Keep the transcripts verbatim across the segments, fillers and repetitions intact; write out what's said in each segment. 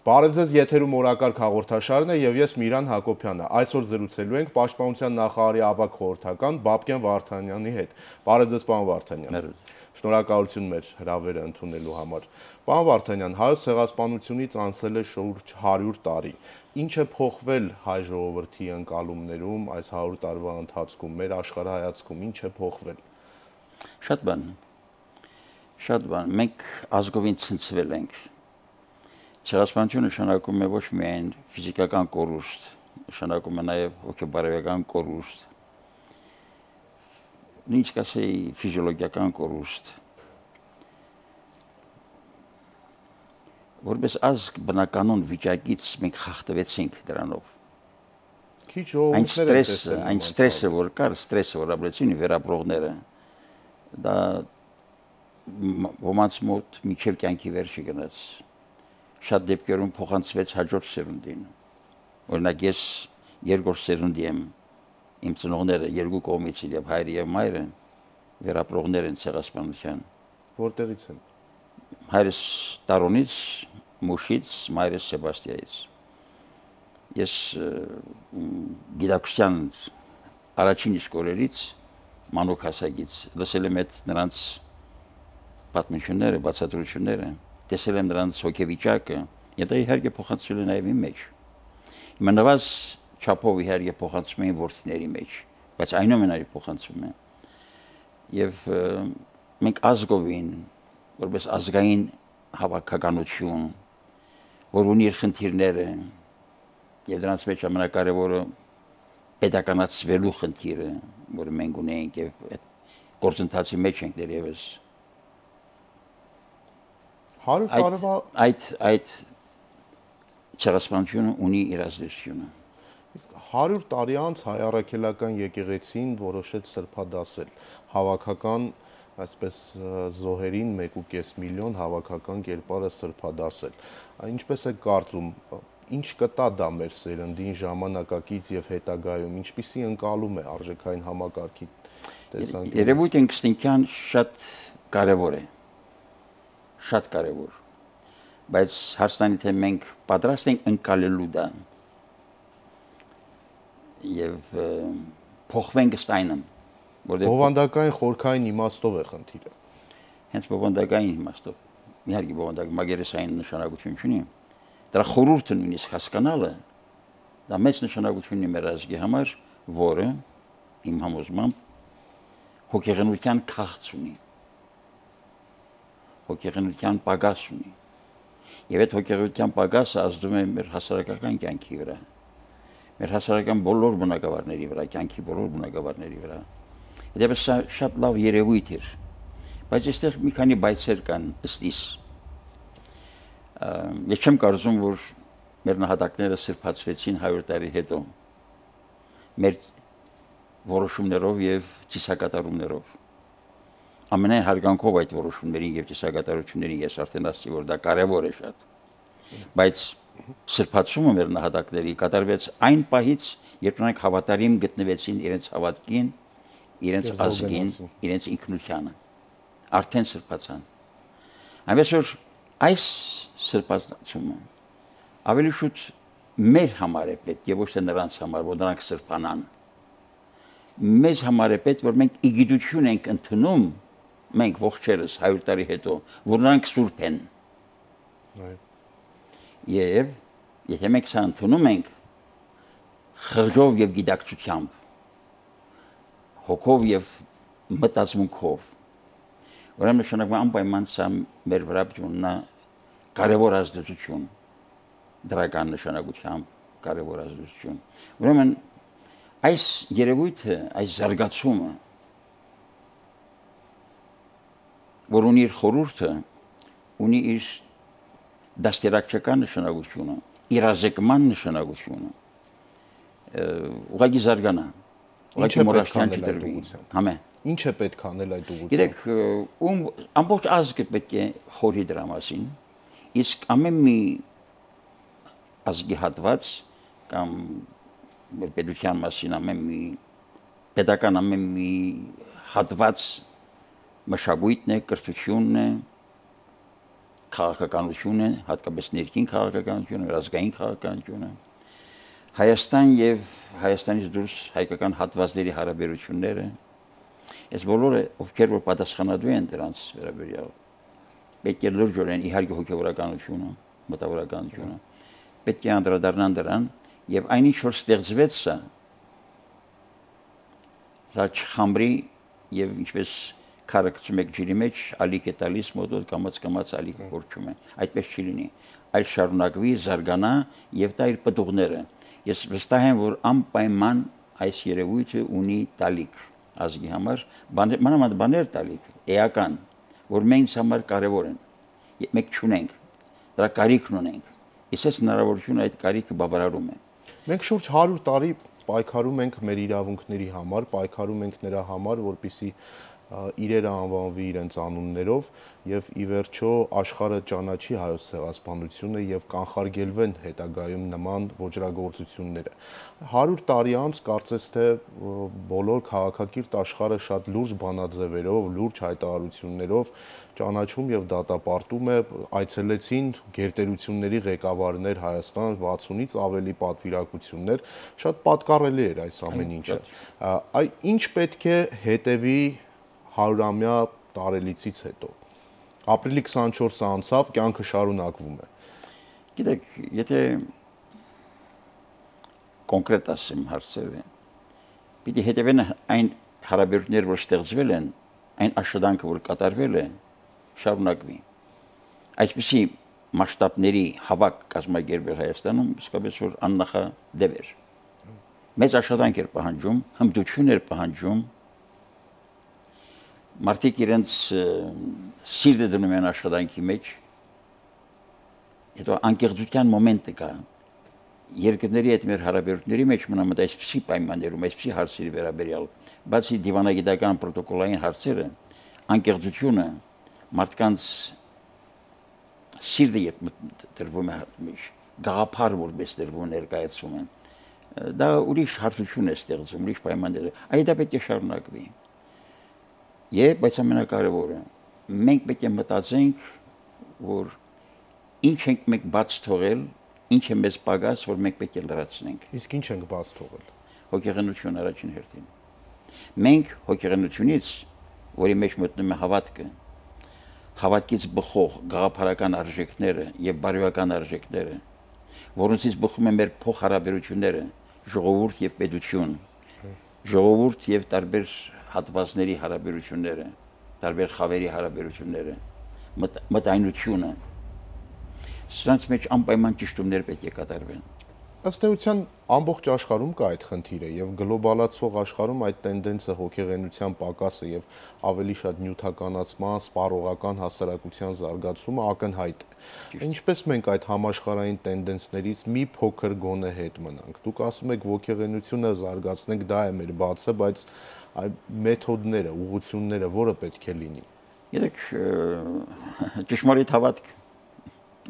Բարև ձեզ, եթերում օրակարգ հաղորդաշարն է եւ ես Միրան Հակոբյանը։ Այսօր զրուցելու ենք Պաշտպանության նախարարի ավագ խորհրդական Բաբկեն Վարդանյանի հետ։ Բարև ձեզ, պարոն Վարդանյան։ Շնորհակալություն մեր հրավերը ընդունելու համար։ Պարոն Վարդանյան, հայոց ցեղասպանությունից անցել է շուրջ հարյուր տարի։ Ինչ է փոխվել հայ ժողովրդի ընկալումներում այս հարյուր տարվա ընթացքում, մեր աշխարհայացքում ինչ է փոխվել։ Շատ բան։ Շատ բան։ Մենք ազգովին ցնցվել ենք։ Ցեղասպանությունը նշանակում է ոչ միայն ֆիզիկական կորուստ, նշանակում է նաև հոգեբարոյական կորուստ, ինչ կասեի ֆիզիոլոգիական կորուստ։ Որպես ազգ բնականոն վիճակից մենք խախտվեցինք դրանով։ Քիչ ժողովուրդներ են տեսել։ Այն ստրեսը, որ կար, ստրեսը, որ ապրեցին վերապրողները, դա ոմանց մոտ միջև կյանքի վերջը գնաց։ Շատ դեպքերում փոխանցվեց հաջորդ սերունդին։ Օրինակ ես երկրորդ սերունդի եմ, իմ ծնողները երկու կողմից եւ հայրը եւ մայրը վերապրողներ են ցեղասպանության։ Որտեղից են։ Հայրս Տարոնից, Մուշից, մայրս Սեբաստիայից։ Ես գիտակցության առաջին իսկ օրերից մանուկ հասակից լսել եմ այդ նրանց պատմությունները, բացատրությունները, տեսել եմ նրանց հոգեվիճակը, եւ դա իհարկե փոխանցվել է նաեւ իմ մեջ։ Հիմա նվազ չափով իհարկե փոխանցում են որդիների մեջ, բայց այնուամենայնիվ փոխանցում են։ Եվ մենք ազգովին, որպես ազգային հավաքականություն, որ ունի իր խնդիրները, եւ դրանց մեջ ամենակարևորը պետականացվելու խնդիրը, որը մենք ունենք եւ այդ գործընթացի մեջ ենք դերևս։ հարյուր տարվա այդ այդ ցեղասպանությունը ունի իր ազդեցությունը։ Իսկ հարյուր տարի անց հայ առաքելական եկեղեցին որոշեց սրբադասել հավաքական, այսպես զոհերին մեկ ու կես միլիոն հավաքական կերպարը սրբադասել։ Ինչպես է կարծում, ինչ կտա դա մեր սերնդին ժամանակակից եւ հետագայում, ինչպիսի ընկալում է արժեքային համակարգի տեսանկյունից։ Երևույթ ինստինկտյան շատ կարևոր է։ Շատ կարևոր, բայց հարցնանի թե մենք պատրաստ ենք ընկալելու դա եւ փոխվենք ստայնը, որտեղ բովանդակային խորքային իմաստով է խնդիրը։ Հենց բովանդակային իմաստով, իհարկե բովանդակ մագերեսային նշանակություն չունի, դրա խորհուրդը նույնիսկ հասկանալը դա մեծ նշանակություն ունի մեր ազգի համար, որը իմ համոզմամբ հոգեգնության քաղց ունի։ Հոգեգնության պակաս ունի։ Եվ այդ հոգեգնության պակասը ազդում է մեր հասարակական կյանքի վրա, մեր հասարակական բոլոր բնակավարների վրա, կյանքի բոլոր բնակավարների վրա։ Դեպս շատ լավ երևույթ էր, բայց այստեղ մի քանի բայցեր կան ըստիս։ Ես չեմ կարծում, որ մեր նահատակները սրբացվեցին հարյուր տարի հետո, մեր որոշումներով եւ ծիսակատարումներով։ Ամենայն հարգանքով այդ որոշումներին եւ ծիսակատարություններին ես արդեն ասացի, որ դա կարեւոր է շատ։ Բայց սրբացումը մեր նահատակների կատարվեց այն պահից, երբ նրանք հավատարիմ գտնվեցին իրենց հավատքին, իրենց ազգին, իրենց ինքնությանը։ Արդեն սրբացան։ Այնպես որ այս սրբացումը ավելի շուտ մեր համար է պետք եւ ոչ թե նրանց համար, որ նրանք սրբանան։ Մեզ համար է պետք, որ մենք իգիտություն ենք ընդունում, մենք ողջերս հարյուր տարի հետո, որ նրանք սուրբ են։ Եվ եթե մենք սա ընդունում ենք խղճով եւ գիտակցությամբ, հոգով եւ մտածմունքով, ուրեմն նշանակում է անպայման սա մեր վրա ունենա կարևոր ազդեցություն, դրական նշանակությամբ կարևոր ազդեցություն։ Ուրեմն այս երևույթը, այս զարգացումը, որ ունի իր խորհուրդը, ունի իր դաստիարակչական նշանակությունը, իրազեկման նշանակությունը, ուղղակի զարգանա, ուղղակի մոռացման չդրվի։ Համե։ Ինչ է պետք անել այդ ուղղությամբ։ Գիտեք, ում ամբողջ ազգը պետք է խորհի դրա մասին, իսկ ամեն մի ազգի հատված կամ մեր պետության մասին ամեն մի պետական ամեն մի հատված մշակույթն է, կրթությունն է, քաղաքականությունը, հատկապես ներքին քաղաքականությունը, ազգային քաղաքականությունը, Հայաստան եւ Հայաստանից դուրս հայկական հատվածների հարաբերությունները, այս բոլորը ովքեր որ պատասխանատու են դրանց վերաբերյալ, պետք է լրջորեն իհարկե հոգեվորականությունը, մտավորականությունը, պետք է անդրադառնան դրան եւ այնինչ որ ստեղծվեց սա, դա չխամրի եւ ինչպես քարակցում եք ջրի մեջ, ալիք է տալիս մոտոտ կամած կամած ալիք կորչում է, այդպես չի լինի, այլ շարունակվի, զարգանա եւ դա իր պտուղները Ես վստահ եմ, որ անպայման այս երևույթը ունի տալիք ազգի համար, մանավանդ բաներ տալիք, էական, որ մենք համար կարևոր են, մենք չունենք, դրա կարիքն ունենք, իսկ հնարավորությունը այդ կարիքը բավարարում է։ Մենք շուրջ հարյուր տարի պայքարում ենք մեր իրավունքների համար, պայքարում ենք նրա համար, որպեսզի իրերը անվանվի իրենց անուններով եւ ի վերջո աշխարհը ճանաչի հայոց ցեղասպանությունը եւ կանխարգելվեն հետագայում նման ոճրագործությունները։ հարյուր տարի անց կարծես թե բոլոր քաղաքակիրթ աշխարհը շատ լուրջ բանաձևերով, լուրջ հայտարարություններով ճանաչում եւ դատապարտում է, այցելեցին գերտերությունների ղեկավարներ Հայաստան, վաթսունից ավելի պատվիրակություններ, շատ պատկառելի էր այս ամեն ինչը։ Այ ինչ պետք է հետևի հարյուրամյա տարելիցից հետո։ Ապրիլի քսանչորսը անցավ, կյանքը շարունակվում է։ Գիտեք, եթե կոնկրետ ասեմ հարցերը, պիտի հետևեն այն հարաբերությունները, որ ստեղծվել են, այն աշխատանքը, որ կատարվել է, շարունակվի։ Այսպիսի մասշտաբների հավաք կազմակերպել Հայաստանում, իսկապես որ աննախադեպ էր։ Մեծ աշխատանք էր պահանջում, հմտություն էր պահանջում, մարդիկ իրենց սիրտը դնում են աշխատանքի մեջ, հետո անկեղծության մոմենտը կա, երկրների հետ մեր հարաբերությունների մեջ մնամդ այսպիսի պայմաններում, այսպիսի հարցերի վերաբերյալ, բացի դիվանագիտական պրոտոկոլային հարցերը, անկեղծությունը, մարդկանց սիրտը երբ դրվում է գաղափար որպես դրվում ներկայացում են, դա ուրիշ հարցություն է ստեղծում, ուրիշ պայմաններ, այդ դա պետք է շարունակվի։ Եվ բայց ամենակարևորը, մենք պետք է մտածենք, որ ինչ ենք մենք բաց թողել, ինչ է մեզ պակաս, որ մենք պետք է լրացնենք։ Իսկ ինչ ենք բաց թողել։ Հոգեգնություն առաջին հերթին։ Մենք հոգեգնությունից, որի մեջ մտնում է հավատքը, հավատքից բխող գաղափարական արժեքները եւ բարոյական արժեքները, որոնցից բխում են մեր փոխհարաբերությունները, ժողովուրդ եւ պետություն, ժողովուրդ եւ տարբեր հատվածների հարաբերությունները, տարբեր խավերի հարաբերությունները, մտայնությունը, սրանց մեջ անպայման ճշտումներ պետք է կատարվեն։ Ըստ էության ամբողջ աշխարհում կա այդ խնդիրը եւ գլոբալացվող աշխարհում այդ տենդենսը հոգեգնության պակասը եւ ավելի շատ նյութականացման, սպառողական հասարակության զարգացումը ակնհայտ է։ Ինչպես մենք այդ համաշխարհային տենդենսներից մի փոքր գոնե հետ մնանք։ Դուք ասում եք հոգեգնությունը զարգացնենք, դա է մեր բացը, բայց այ մեթոդները, ուղղությունները, որը պետք է լինի։ Գիտեք, ճշմարիտ հավատք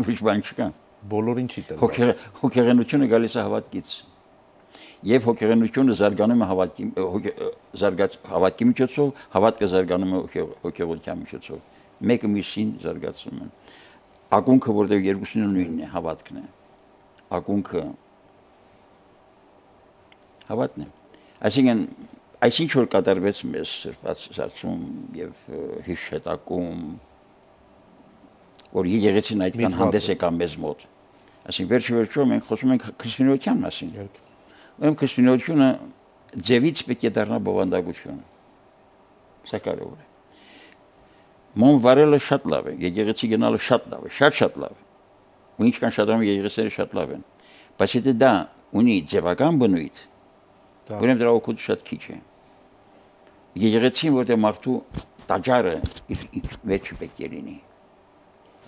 ուրիշ բան չկա։ Բոլորին չի տրվում։ Հոգեգնությունը գալիս է հավատքից։ Եվ հոգեգնությունը զարգանում է հավատքի զարգաց հավատքի միջոցով, հավատքը զարգանում է հոգեգնության միջոցով։ Մեկը մյուսին զարգացնում են։ Ակունքը, որտեղ երկուսին նույնն է, հավատքն է։ Ակունքը հավատն է։ Այսինքն Այսինչ որ կատարվեց մեզ սրբացում եւ հիշատակում, որ եկեղեցին այդքան հանդես եկավ մեզ մոտ։ Այսինքն վերջի վերջո մենք խոսում ենք քրիստոնեության մասին։ Ուրեմն քրիստոնեությունը ձևից պետք է դառնա բովանդակություն։ Սա կարևոր է։ Մոմ վարելը շատ լավ է, եկեղեցի գնալը շատ լավ է, շատ շատ լավ է։ Ու ինչքան շատանում եկեղեցիները շատ լավ են։ Բայց եթե դա ունի ձևական բնույթ, ուրեմն դրա օգուտը շատ քիչ է։ Եկեղեցին, որտեղ մարդու տաճարը իր մեջ պետք է լինի,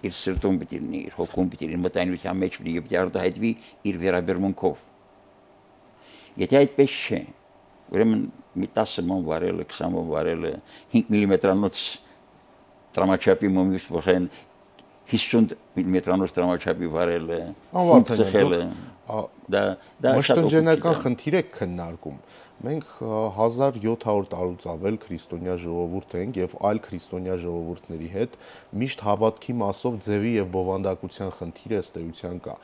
իր սրտում պետք է լինի, իր հոգում պետք է լինի, մտայնության մեջ լինի եւ արտահայտվի իր վերաբերմունքով։ Եթե այդպես չէ, ուրեմն մի տասը մոմ վարելը, քսան մոմ վարելը, հինգ միլիմետրանոց տրամաչափի մոմից փոխեն հիսուն միլիմետրանոց տրամաչափի վարելը, անվարտանյալ դա դա մշտնջենական խնդիր է քննարկում։ Մենք հազար յոթ հարյուր տարուց ավել քրիստոնյա ժողովուրդ ենք եւ այլ քրիստոնյա ժողովուրդների հետ միշտ հավատքի մասով ձևի եւ բովանդակության խնդիրը ըստ էության կա։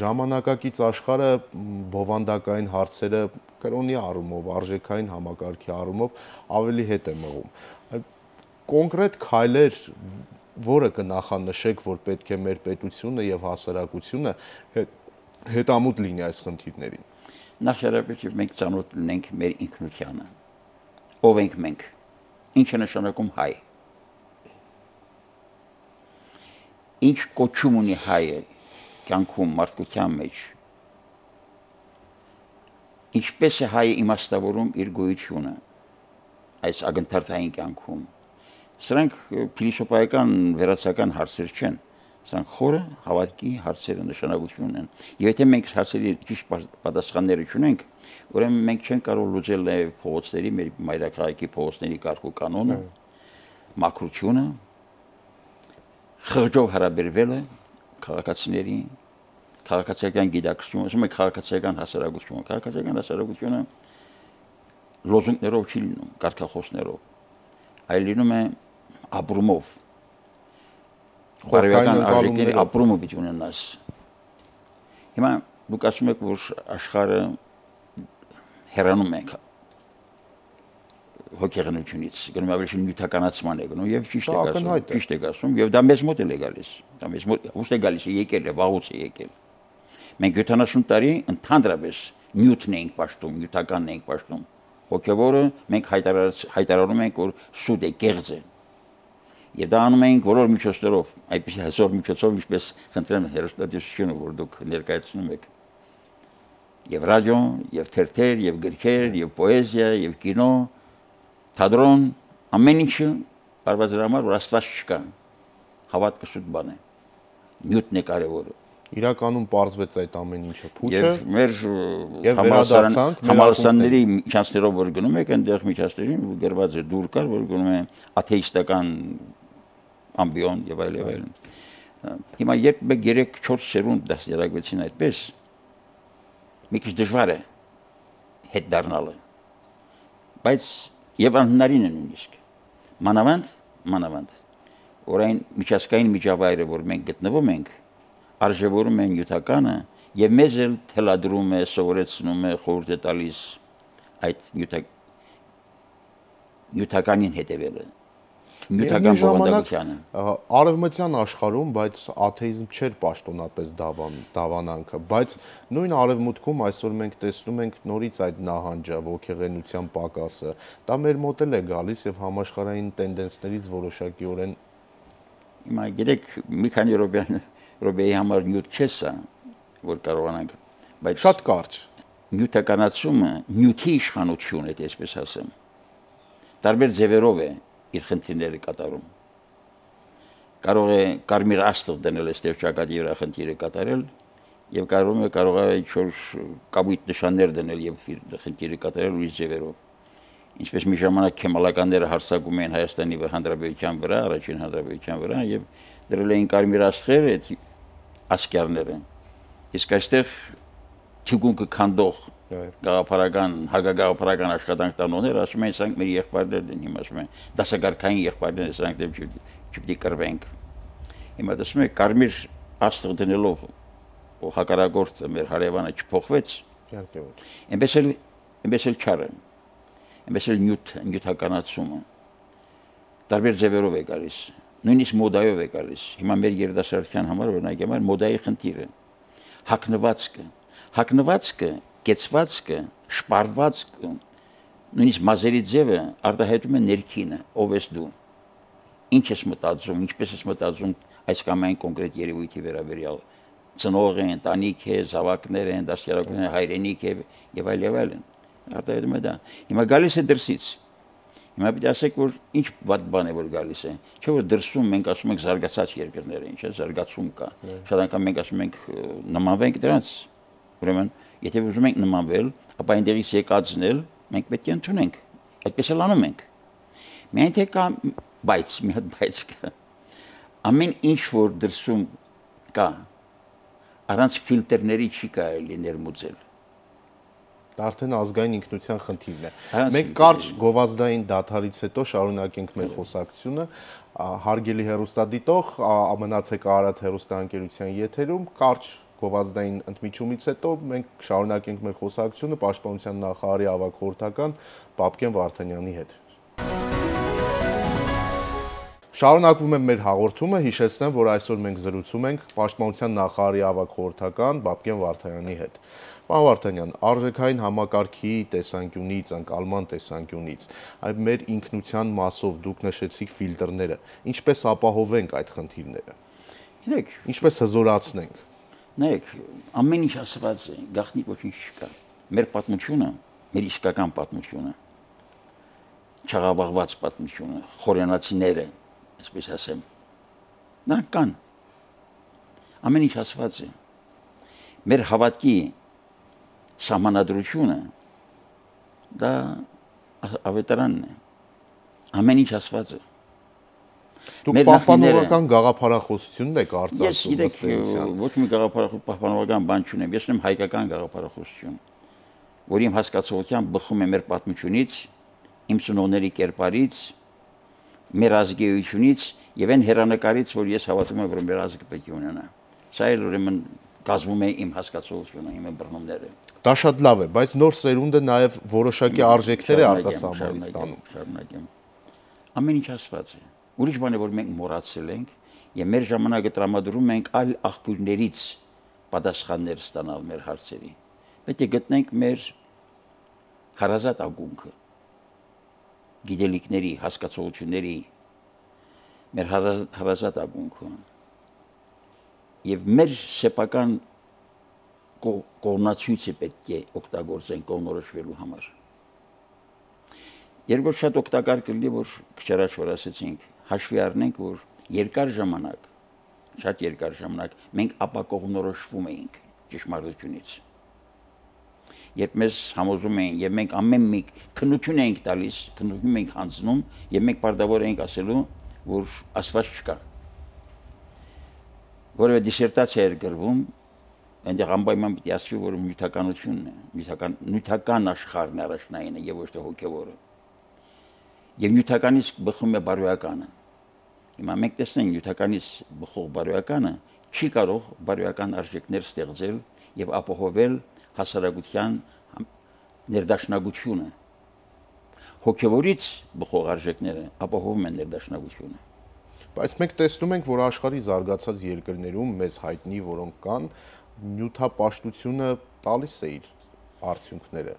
Ժամանակակից աշխարհը բովանդակային հարցերը կրոնի առումով, արժեքային համակարգի առումով ավելի հետ է մղում։ Կոնկրետ քայլեր, որը կնախանշեք, որ պետք է մեր պետությունը եւ հասարակությունը հետամուտ լինի այս խնդիրներին։ Նախարարապես մենք ծանոթ լինենք մեր ինքնությանը։ Ով ենք մենք։ Ինչ է նշանակում հայ։ Ինչ կոչում ունի հայը կյանքում մարդկության մեջ։ Ինչպես է հայը իմաստավորում իր գոյությունը այս ակնթարթային կյանքում։ Սրանք փիլիսոփայական վերացական հարցեր չեն։ Սրանք խորը հավատքի հարցերը նշանակություն են։ Եվ եթե մենք հարցերի ճիշտ պատասխանները չունենք, ուրեմն մենք չենք կարող լուծել փողոցների, մեր մայրաքաղաքի փողոցների կարգ ու կանոնը, մաքրությունը, խղճով հարաբերվելը քաղաքացիների, քաղաքացիական գիտակցությունը, ասում ենք քաղաքացիական հասարակությունը, քաղաքացիական հասարակությունը լոզունգներով չի լինում, կարգախոսներով, այլ լինում է ապրումով։ Բարոյական արժեքների ապրումը պիտի ունենաս։ Հիմա դուք ասում եք, որ աշխարհը հեռանում է հոգեգնությունից, գնում ավելի նյութականացման է գնում եւ ճիշտ է ասում, ճիշտ է ասում եւ դա մեզ մոտ է գալիս, դա մեզ մոտ ուստ է գալիս, եկել է, վաղուց է եկել։ Մենք յոթանասուն տարի ընդհանրապես նյութն ենք պաշտում, նյութականն ենք պաշտում։ Հոգեվորը մենք հայտարարում ենք, որ սուտ է, կեղծ է։ Եվ դա անում ենք բոլոր միջոցներով, այդպես հզոր միջոցով, ինչպես խնդրեմ հեռուստատեսությունը, որ դուք ներկայացնում եք։ Եվ ռադիո, եւ թերթեր, եւ գրքեր, եւ պոեզիա, եւ կինո, թատրոն, ամեն ինչը բարբազար համար, որ Աստված չկա։ Հավատքը սուտ բան է։ Նյութն է կարևորը։ Իրականում պարզվեց այդ ամեն ինչը փուչը։ Եվ մեր համալսարանների միջանցքներով որ գնում եք, այնտեղ միջանցքներին գրված է դուր կար, որ գնում է աթեիստական ամբիոն եւ այլ եւ այլն։ Հիմա երբ մեկ երեք չորս սերունդ դասերակցեցին այդպես, մի քիչ դժվար է հետ դառնալը։ Բայց եւ անհնարին է նույնիսկ։ Մանավանդ, մանավանդ, որ այն միջազգային միջավայրը, որ մենք գտնվում ենք, արժևորում է նյութականը եւ մեզ էլ թելադրում է, սովորեցնում է, խորհուրդ է տալիս այդ նյութականին հետևելը։ Նյութական բովանդակությանը։ Արևմտյան աշխարհում, բայց աթեիզմ չէր պաշտոնապես դավանանքը, բայց նույն արևմուտքում այսօր մենք տեսնում ենք նորից այդ նահանջը, ոգեղենության պակասը, դա մեր մոտ էլ է գալիս եւ համաշխարհային տենդենսներից որոշակիորեն հիմա գիտեք մի քանի րոպեի համար նյութ չէ սա, որ կարողանանք, բայց շատ կարճ նյութականացումը նյութի իշխանություն է, այսպես ասեմ։ Տարբեր ձևերով է իր խնդիրները կատարում։ Կարող է կարմիր աստղ դնել այստեղ ճակատի վրա խնդիրը կատարել եւ կարող է կարող է ինչ-որ կապույտ նշաններ դնել եւ իր խնդիրը կատարել ուրիշ ձևերով։ Ինչպես մի ժամանակ քեմալականները հարձակում էին Հայաստանի Հանրապետության վրա, առաջին հանրապետության վրա եւ դրել էին կարմիր աստղեր այդ ասկերները։ Իսկ այստեղ թիգունքը քանդող գաղափարական, հագագաղափարական աշխատանք տանողներ ասում են, սրանք մեր եղբայրներն են, հիմա ասում են, դասակարգային եղբայրներ են, սրանք դեմ չպետք է կռվենք։ Հիմա տեսնում եք, կարմիր աստղ դնելով հակառակորդը մեր հարևանը չփոխվեց։ Այնպես էլ այնպես էլ չարը, այնպես էլ նյութ, նյութականացումը տարբեր ձևերով է գալիս, նույնիսկ մոդայով է գալիս։ Հիմա մեր երիտասարդության համար օրինակ համար մոդայի խնդիրը, հագնվածքը, հագնվածքը կեցվածքը, շպարվածքը, նույնիսկ մազերի ձևը արտահայտում է ներքինը, ով ես դու, ինչ ես մտածում, ինչպես ես մտածում այս կամ այն կոնկրետ երևույթի վերաբերյալ, ծնող է, ընտանիք է, զավակներ են, դաստիարակություններ, հայրենիք է եւ այլ եւ այլն, արտահայտում է դա։ Հիմա գալիս է դրսից, հիմա պիտի ասեք, որ ինչ վատ բան է որ գալիս է, չէ՞ որ դրսում մենք ասում ենք զարգացած երկրներ են, չէ՞, զարգացում կա, շատ անգամ մենք ասում ենք նմանվենք դրանց, ուրեմն եթե ուզում ենք նմանվել, ապա այնտեղից եկածն էլ մենք պետք է ընդունենք։ Այդպես էլ անում ենք։ Միայն թե կա բայց, մի հատ բայց կա։ Ամեն ինչ որ դրսում կա, առանց ֆիլտրների չի կարելի ներմուծել։ Դա արդեն ազգային ինքնության խնդիրն է։ Մենք կարճ գովազդային դադարից հետո շարունակենք մեր խոսակցությունը։ Հարգելի հեռուստադիտող, մնացեք Արարատ հեռուստաընկերության եթերում, կարճ գովազդային ընդմիջումից հետո մենք շարունակենք մեր խոսակցությունը Պաշտպանության նախարարի ավագ խորհրդական Բաբկեն Վարդանյանի հետ։ Շարունակվում է մեր հաղորդումը, հիշեցնեմ, որ այսօր մենք զրուցում ենք Պաշտպանության նախարարի ավագ խորհրդական Բաբկեն Վարդանյանի հետ։ Պարոն Վարդանյան, արժեքային համակարգի տեսանկյունից, անկալման տեսանկյունից, այ մեր ինքնության մասով դուք նշեցիք ֆիլտրները, ինչպես ապահովենք այդ խնդիրները։ Գիտեք, ինչպես հզորացնենք։ Նայեք, ամեն ինչ ասված է, գաղտնիք ոչինչ չկա։ Մեր պատմությունը, մեր իսկական պատմությունը, չաղավաղված պատմությունը, խորենացիները, այսպես ասեմ, նրանք կան։ Ամեն ինչ ասված է։ Մեր հավատքի սահմանադրությունը դա ավետարանն է։ Ամեն ինչ ասված է։ Դուք պահպանողական գաղափարախոսությունն եք արծարծում։ Ես գիտեք, ոչ մի պահպանողական բան չունեմ, ես ունեմ հայկական գաղափարախոսություն, որ իմ հասկացողությամբ բխում է մեր պատմությունից, իմ ծնողների կերպարից, մեր ազգայությունից եւ այն հերանեկարից, որ ես հավատում եմ, որ մեր ազգը պետք է ունենա։ Սա էլ ուրեմն կազմում է իմ հասկացողությունը, իմ բռնումները։ Դա շատ լավ է, բայց նոր սերունդը նաեւ որոշակի արժեքներ է արտասահմանից ստանում։ Շարունակեմ։ Ամեն ինչ ասված է։ Ուրիշ բան է, որ մենք մոռացել ենք եւ մեր ժամանակը տրամադրում ենք այլ աղբյուրներից պատասխաններ ստանալ մեր հարցերի։ Պետք է գտնենք մեր հարազատ ակունքը, գիտելիքների, հասկացությունների, մեր հարազատ ակունքը եւ մեր սեփական կողմնացույցը պետք է օգտագործենք կողմնորոշվելու համար։ Երկրորդ շատ օգտակար կլինի, որ քիչ առաջ որ ասեցինք, հաշվի առնենք, որ երկար ժամանակ, շատ երկար ժամանակ մենք ապակողմնորոշվում էինք ճշմարտությունից։ Երբ մեզ համոզում էին եւ մենք ամեն մի քննություն էինք տալիս, քննություն ենք հանձնում եւ մենք պարտավոր էինք ասելու, որ ասված չկա։ Որը դիսերտացիա էր գրվում, այնտեղ անպայման պիտի ասվի, որ նյութականությունն է, նյութական նյութական աշխարհն է առաջնայինը եւ ոչ թե հոգեվորը։ Եվ նյութականից բխում է բարոյականը։ Հիմա մենք տեսնենք նյութականից բխող բարոյականը չի կարող բարոյական արժեքներ ստեղծել եւ ապահովել հասարակության ներդաշնակությունը։ Հոգեվորից բխող արժեքները ապահովում են ներդաշնակությունը։ Բայց մենք տեսնում ենք, որ աշխարհի զարգացած երկրներում մեզ հայտնի, որոնք կան, նյութապաշտությունը տալիս է իր արդյունքները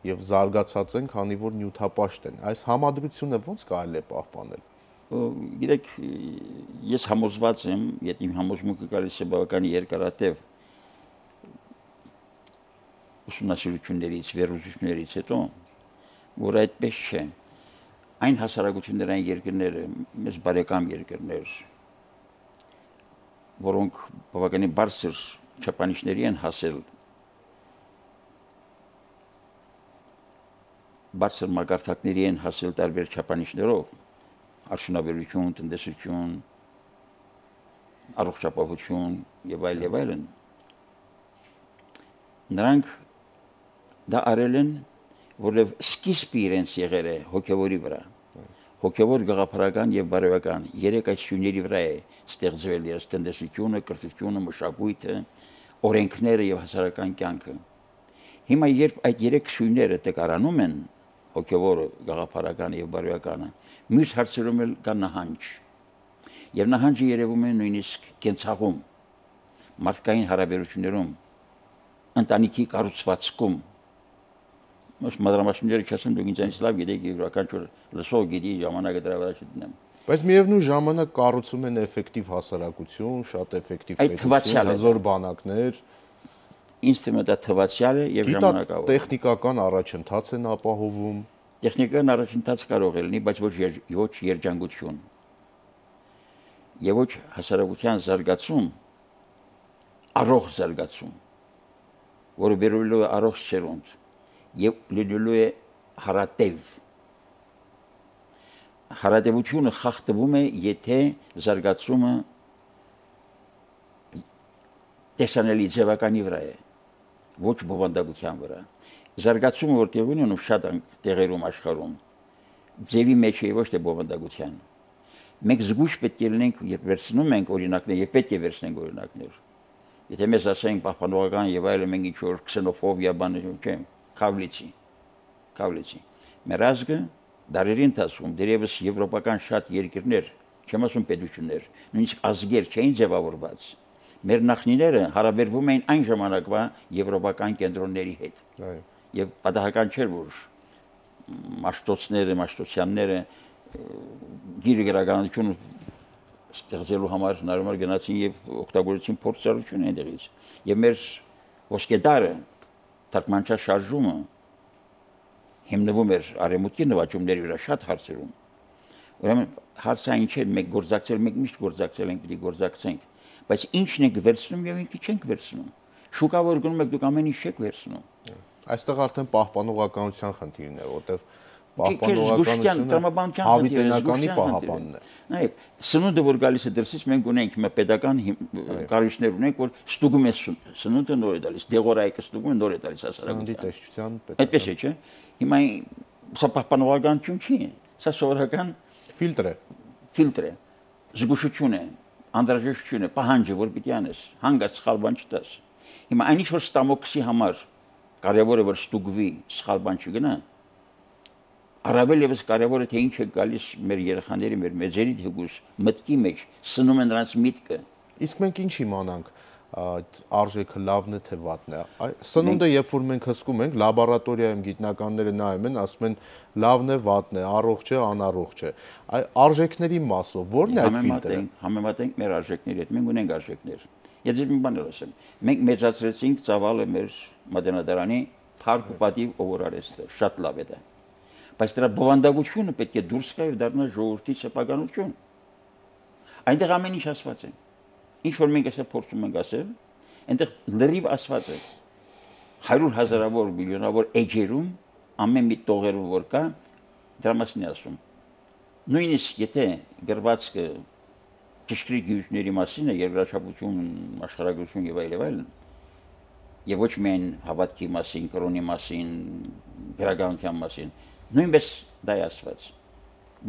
եւ զարգացած են, քանի որ նյութապաշտ են։ Այս համադրությունը ո՞նց կարելի է պահպանել։ Գիտեք, ես համոզված եմ, եթե իմ համոզմունքը գալիս է բավական երկարատև ուսումնասիրություններից, վերլուծություններից հետո, որ այդպես չէ։ Այն հասարակություններ, այն երկրները, մեզ բարեկամ երկրներ, որոնք բավականին բարձր չափանիշների են հասել, բարձր մակարդակների են հասել տարբեր չափանիշներով, արդյունաբերություն, տնտեսություն, առողջապահություն եւ այլ եւ այլն։ Նրանք դա արել են, որով սկիզբը իրենց եղել է հոգեվորի վրա։ Հոգեվոր գաղափարական եւ բարոյական երեք այդ շույների վրա է ստեղծվել իրենց տնտեսությունը, կրթությունը, մշակույթը, օրենքները եւ հասարակական կյանքը։ Հիմա երբ այդ երեք շույները տկարանում են, հոգեվորը, գաղափարականը եւ բարոյականը, մյուս հարցերում էլ կա նահանջ։ Եվ նահանջը երևում է նույնիսկ կենցաղում, մարդկային հարաբերություններում, ընտանիքի կառուցվածքում։ Most մադրամասները չասեն դուք ինձանից լավ գիտեք եւ յուրաքանչյուր լսող գիտի ժամանակը դրա վրա չդնեմ։ Բայց միևնույն ժամանակ կառուցում են էֆեկտիվ հասարակություն, շատ էֆեկտիվ պետություն, հզոր բանակներ։ Ինձ թվում է դա թվացial է եւ ժամանակավոր։ Տեխնիկական առաջընթաց են ապահովում։ Տեխնիկական առաջընթաց կարող է լինի, բայց ոչ ոչ երջանկություն։ Եվ ոչ հասարակության զարգացում, առողջ զարգացում, որը բերելու է առողջ սերունդ եւ լինելու է հարատև։ Հարատևությունը խախտվում է, եթե զարգացումը տեսանելի ձևականի վրա է, ոչ բովանդակության վրա։ զարգացումը որ տեղի ունենում շատ տեղերում աշխարհում ձևի մեջ է ոչ թե բովանդակության մենք զգույշ պետք է լինենք երբ վերցնում ենք օրինակներ եւ պետք է վերցնենք օրինակներ եթե մեզ ասեն պահպանողական եւ այլն մենք ինչ որ քսենոֆոբիա բաներ չեմ կավլիցի կավլիցի մեր ազգը դարերի ընթացքում դերևս եվրոպական շատ երկրներ չեմ ասում պետություններ նույնիսկ ազգեր չէին ձևավորված մեր նախնիները հարաբերվում էին այն ժամանակվա եվրոպական կենտրոնների հետ այո եւ պատահական չէր որ մաշտոցները մաշտոցյանները գիրը գրականությունը ստեղծելու համար հնարավոր գնացին եւ օգտագործեցին փորձառություն այնտեղից եւ մեր ոսկեդարը թարգմանչա շարժումը հիմնվում էր արեմուտքի նվաճումների վրա շատ հարցերում ուրեմն հարցը այն չէ մենք գործակցել մենք միշտ գործակցել ենք պիտի գործակցենք բայց ինչն ենք վերցնում եւ ինչի չենք վերցնում շուկա որ գնում եք դուք ամեն ինչ չեք վերցնում այստեղ արդեն պահպանողականության խնդիրն է որտեղ պահպանողականությունը հավիտենականի պահապանն է նայեք սնունդը որ գալիս է դրսից մենք ունենք մի պետական կառույցներ ունենք որ ստուգում է սնունդը նոր է տալիս դեղորայքը ստուգում է նոր է տալիս սննդի տեսչության այդպես է չէ հիմա սա պահպանողականություն չի սա սովորական ֆիլտր է ֆիլտր է զգուշություն է անդրաժեշտություն է պահանջը որ պիտի անես հանգած սխալ բան չտաս հիմա այնիշ որ ստամոքսի համար կարևորը որ ստուգվի սխալ բան չգնա առավել եւս կարևորը թե ինչ է գալիս մեր երեխաների մեր մեծերի թեկուզ մտքի մեջ սնում են նրանց միտքը իսկ մենք ինչ իմանանք այդ արժեքը լավն է թե վատն է սնունդը երբ որ մենք հսկում ենք լաբորատորիայում գիտնականները նայում են ասում են լավն է վատն է առողջ է անառողջ է այ արժեքների մասով ո՞րն է այդ ֆիլտրը համեմատենք մեր արժեքների հետ մենք ունենք արժեքներ Եթե մի բան ասեմ, մենք մեծացրեցինք ծավալը մեր մատենադարանի փառք ու պատիվ ով արեստը, շատ լավ է դա։ Բայց դրա բովանդակությունը պետք է դուրս գա եւ դառնա ժողովրդի սեփականություն։ Այնտեղ ամեն ինչ ասված է։ Ինչ որ մենք այսօր փորձում ենք ասել, այնտեղ լրիվ ասված է։ հարյուր հազարավոր միլիոնավոր էջերում ամեն մի տողերում որ կա, դրա մասին է ասում։ Նույնիսկ եթե գրվածքը ճշգրիտ գիտությունների մասին է, երկրաչափություն, աշխարհագրություն եւ այլ եւ այլն, եւ ոչ միայն հավատքի մասին, կրոնի մասին, գրականության մասին, նույնպես դա է ասված։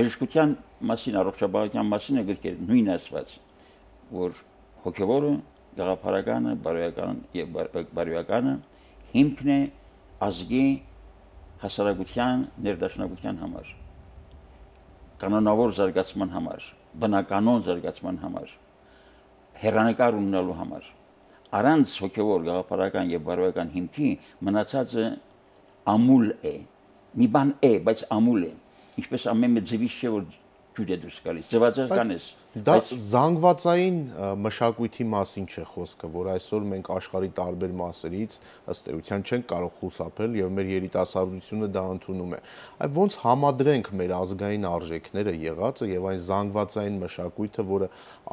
Բժշկության մասին, առողջապահության մասին է գրքեր նույնն ասված, որ հոգեվորը, գաղափարականը, բարոյական եւ բարոյականը հիմքն է ազգի հասարակության ներդաշնակության համար, կանոնավոր զարգացման համար բնականոն զարգացման համար հերանեկար ունենալու համար առանց հոգևոր գաղափարական եւ բարոյական հիմքի մնացածը ամուլ է մի բան է բայց ամուլ է ինչպես ամեն մի ձևից չէ որ ջուր է դուրս գալիս ձվածական է դա զանգվածային մշակույթի մասին չէ խոսքը որ այսօր մենք աշխարհի տարբեր մասերից ըստ էության չենք կարող խուսափել եւ մեր երիտասարդությունը դա ընդունում է այ ոնց համադրենք մեր ազգային արժեքները եղածը եւ այն զանգվածային մշակույթը որը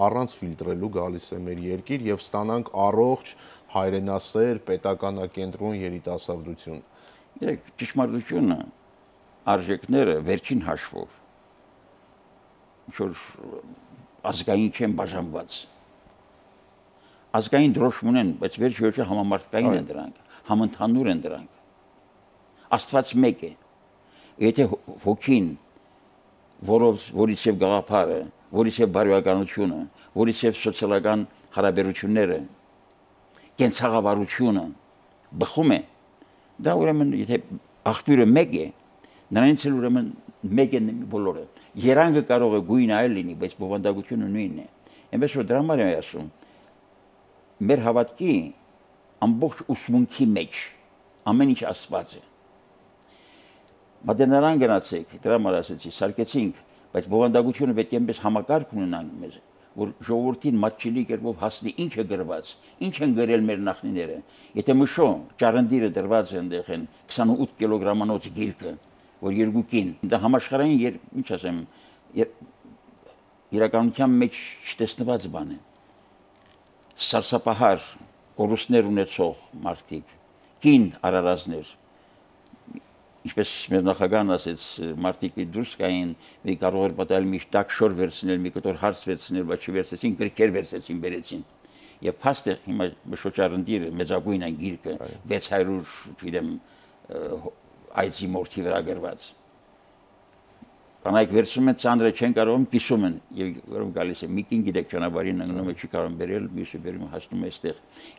առանց ֆիլտրելու գալիս է մեր երկիր եւ ստանանք առողջ հայրենասեր պետականակենտրոն երիտասարդություն եք ճշմարտությունը արժեքները վերջին հաշվով ինչ-որ ազգային չեն բաժանված ազգային դրոշմ ունեն, բայց վերջ-վերջը համամարտկային են դրանք, համընդհանուր են դրանք Աստված մեկ է եթե հոգին որով որից եւ գաղափարը որից եւ բարոյականությունը որից եւ սոցիալական հարաբերությունները կենցաղավարությունը բխում է դա ուրեմն եթե աղբյուրը մեկ է նրանից էլ ուրեմն մեկ են բոլորը երանգը կարող է գույն այլ լինի բայց բովանդակությունը նույնն է այնպես որ դրա համար եմ ասում մեր հավատքի ամբողջ ուսմունքի մեջ ամեն ինչ ասված է մատենարան գնացեք դրա համար ասեցի սարքեցինք բայց բովանդակությունը պետք է այնպես համակարգ ունենանք մեզ որ ժողովրդին մատչելի կերպով հասնի ինչ է գրված ինչ են գրել մեր նախնիները եթե մշո ճարնդիրը դրված է այնտեղ են քսանութ կիլոգրամանոց գիրքը որ երկուքին դա համաշխարհային ինչ ասեմ իրականության մեջ չտեսնված բան է սարսափահար կորուստներ ունեցող մարդիկ կին արարածներ ինչպես մեր նախագահն ասեց մարդիկ դուրս կային մի կարող էր պատահել մի տակ շոր վերցնել մի կտոր հարց վերցնել բայց չվերցեցին գրքեր վերցեցին բերեցին եւ փաստը հիմա մշոճարնդիրը մեծագույն այն գիրքը վեց հարյուր չգիտեմ այցի մորթի վրա գրված։ Կանայք վերցնում են ծանրը չեն կարող կիսում են եւ որով գալիս է միկին գիտեք ճանապարհին ընկնում է չի կարող բերել մյուսը բերում հասնում է այստեղ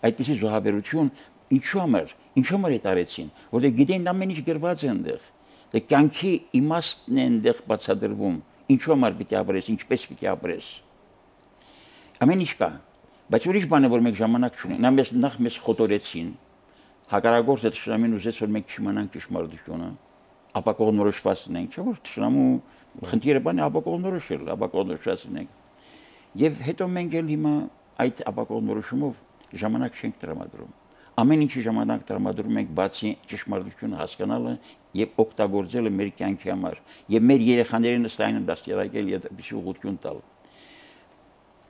այդպեսի զոհաբերություն ինչու համար ինչու համար է տարեցին որտեղ գիտեն ամեն ինչ գրված է այնտեղ դե կյանքի իմաստն է այնտեղ բացատրվում ինչու համար պիտի ապրես ինչպես պիտի ապրես ամեն ինչ կա բայց ուրիշ բան է որ մենք ժամանակ չունենք նա մեզ նախ մեզ խոտորեցին հակառակորդը շնամին ուզեց որ մենք չիմանանք ճշմարտությունը ապա կողմնորոշվածն ենք չէ՞ որ շնամու խնդիրը բանը ապակողմնորոշել, ապակողմնորոշվածն ենք։ Եվ հետո մենք էլ հիմա այդ ապակողմնորոշումով ժամանակ չենք տրամադրում։ Ամեն ինչի ժամանակ տրամադրում ենք բացի ճշմարտությունը հասկանալը եւ օգտագործելը մեր կյանքի համար եւ մեր երեխաներին ըստայն դաստիարակել եւ այդպիսի ուղղություն տալ։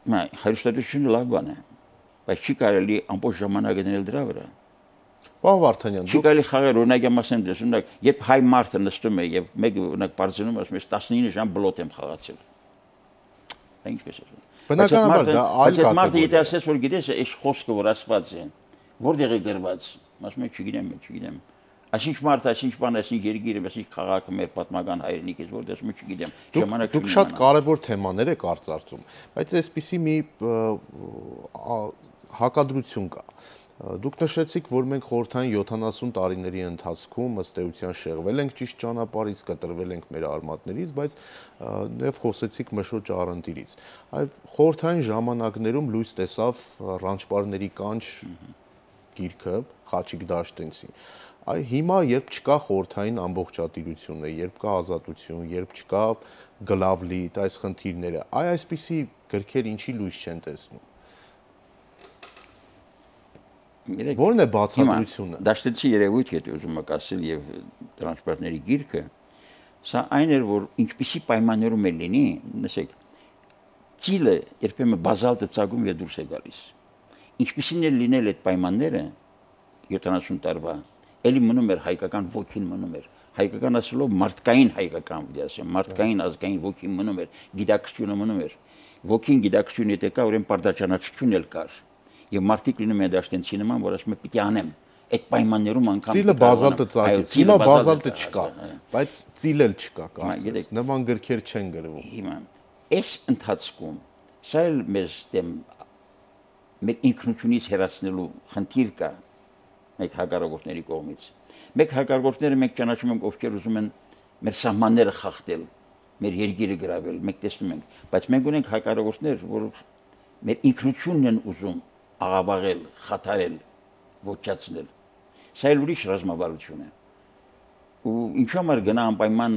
Մա հարստությունը լավ բան է, բայց չի կարելի ամբողջ ժամանակը դնել դրա վրա։ Պարոն Վարդանյան, դուք եկալի խաղեր օրինակ եմ ասեմ դες օրինակ երբ հայ մարդը նստում է եւ մեկը օրինակ բարձրանում ասում է տասնինը ժամ բլոտ եմ խաղացել։ Դա ինչպես է։ Բնականաբար դա այլ կատեգորիա։ Մարդը եթե ասես որ գիտես այս խոսքը որ ասված է որտեղ է գրված ասում է չգիտեմ չգիտեմ այսինչ մարդ այսինչ բան այսինչ երգիրը այսինչ քաղաքը մեր պատմական հայրենիքից որտեղ ասում է չգիտեմ ժամանակ դուք շատ կարևոր թեմաներ եք արծարծում բայց այսպիսի մի հակադրություն կա Դուք նշեցիք, որ մենք խորհրդային յոթանասուն տարիների ընթացքում ըստ էության շեղվել ենք ճիշտ ճանապարհից, կտրվել ենք մեր արմատներից, բայց նաև խոսեցիք Մշոջ Արընդիրից։ Այ խորհրդային ժամանակներում լույս տեսավ Ռանչպարների կանչ գիրքը Խաչիկ Դաշտենցի։ Այ հիմա երբ չկա խորհրդային ամբողջատիրությունը, երբ կա ազատություն, երբ չկա գլավլիտ այս խնդիրները, այ այսպիսի գրքեր ինչի լույս չեն տեսնում։ Որն է բացատրությունը։ Դաշտենցի երևույթ եթե ուզում եք ասել եւ տրանսպորտների գիրքը, սա այն էր որ ինչպիսի պայմաններում է լինի, նշեք, ծիլը երբեմն բազալտը ցագում եւ դուրս է գալիս։ Ինչպիսին է լինել այդ պայմանները յոթանասուն տարվա, ելի մնում էր հայկական ոգին մնում էր։ Հայկական ասելով մարդկային հայկական, դի ասեմ, մարդկային ազգային ոգին մնում էր, գիտակցությունը մնում էր։ Ոգին գիտակցությունը եթե կա, ուրեմն պարտաճանաչություն էլ կար։ Եվ մարդիկ լինում են Դաշտենցի նման, որ ասում է պիտի անեմ։ Այդ պայմաններում անգամ ծիլը բազալտը ծագեց, հիմա բազալտը չկա, բայց ծիլ էլ չկա, կարծես, նման գրքեր չեն գրվում։ Հիմա այս ընթացքում սա էլ մեզ դեմ մեր ինքնությունից հեռացնելու խնդիր կա մեկ հակառակորդների կողմից։ Մեկ հակառակորդները մենք ճանաչում ենք, ովքեր ուզում են մեր սահմանները խախտել, մեր երկիրը գրավել, մենք տեսնում ենք, բայց մենք ունենք հակառակորդներ, որ մեր ինքնությունն են ուզում աղավաղել, խաթարել, ոչնչացնել։ Սա էլ ուրիշ ռազմավարություն է։ Ու ինչու՞ համար գնա անպայման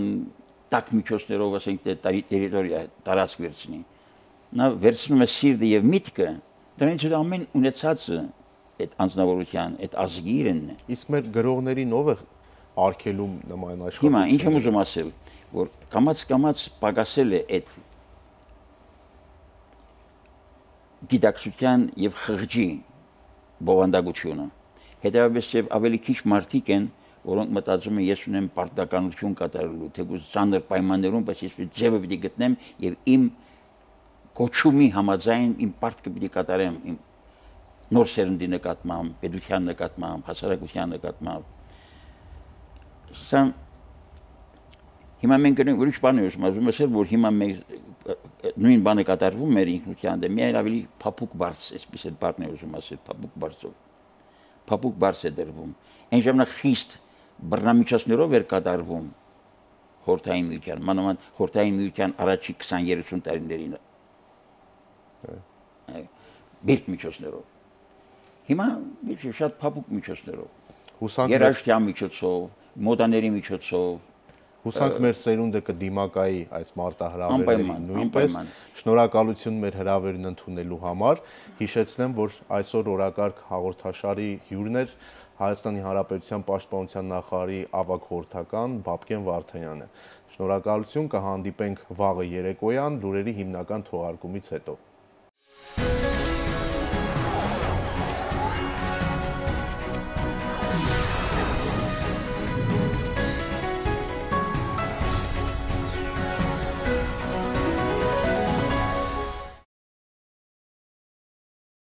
տակ միջոցներով ասենք տերիտորիա տարածք վերցնի։ Նա վերցնում է սիրտը եւ միտքը, դրանից հետո ամեն ունեցածը այդ անձնավորության, այդ ազգի իրենն է։ Իսկ մեր գրողներին ով է արգելում նման աշխատանք։ Հիմա ինչ եմ ուզում ասել, որ կամաց-կամաց պակասել է այդ գիտակցության եւ խղճի բովանդակությունը։ Հետևաբար եւ ավելի քիչ մարդիկ են, որոնք մտածում են ես ունեմ պարտականություն կատարելու, թեկուզ ծանր պայմաններում, բայց ես ձևը պիտի գտնեմ եւ իմ կոչումի համաձայն իմ պարտքը պիտի կատարեմ իմ նոր սերնդի նկատմամբ, պետության նկատմամբ, հասարակության նկատմամբ։ Սա հիմա մենք գնանք ուրիշ բան եմ ասում, ասել որ հիմա մենք նույն բանը կատարվում մեր ինքնության դեմ, միայն ավելի փափուկ բարձ, այսպես այդ բառն եմ ուզում ասել, փափուկ բարձով։ Փափուկ բարձ է դրվում։ Այն ժամանակ խիստ բռնամիջոցներով էր կատարվում խորհրդային միության, մանավանդ խորհրդային միության առաջի քսան-երեսուն տարիներին։ Բերտ միջոցներով։ Հիմա շատ փափուկ միջոցներով։ Երաշտյան միջոցով, մոդաների միջոցով Հուսանք մեր սերունդը կդիմակայի այս մարտահրավերներին նույնպես։ Շնորհակալություն մեր հրավերն ընդունելու համար։ Հիշեցնեմ, որ այսօր օրակարգ հաղորդաշարի հյուրն էր Հայաստանի Հանրապետության Պաշտպանության նախարարի ավագ խորհրդական Բաբկեն Վարդանյանը։ Շնորհակալություն, կհանդիպենք վաղը երեկոյան լուրերի հիմնական թողարկումից հետո։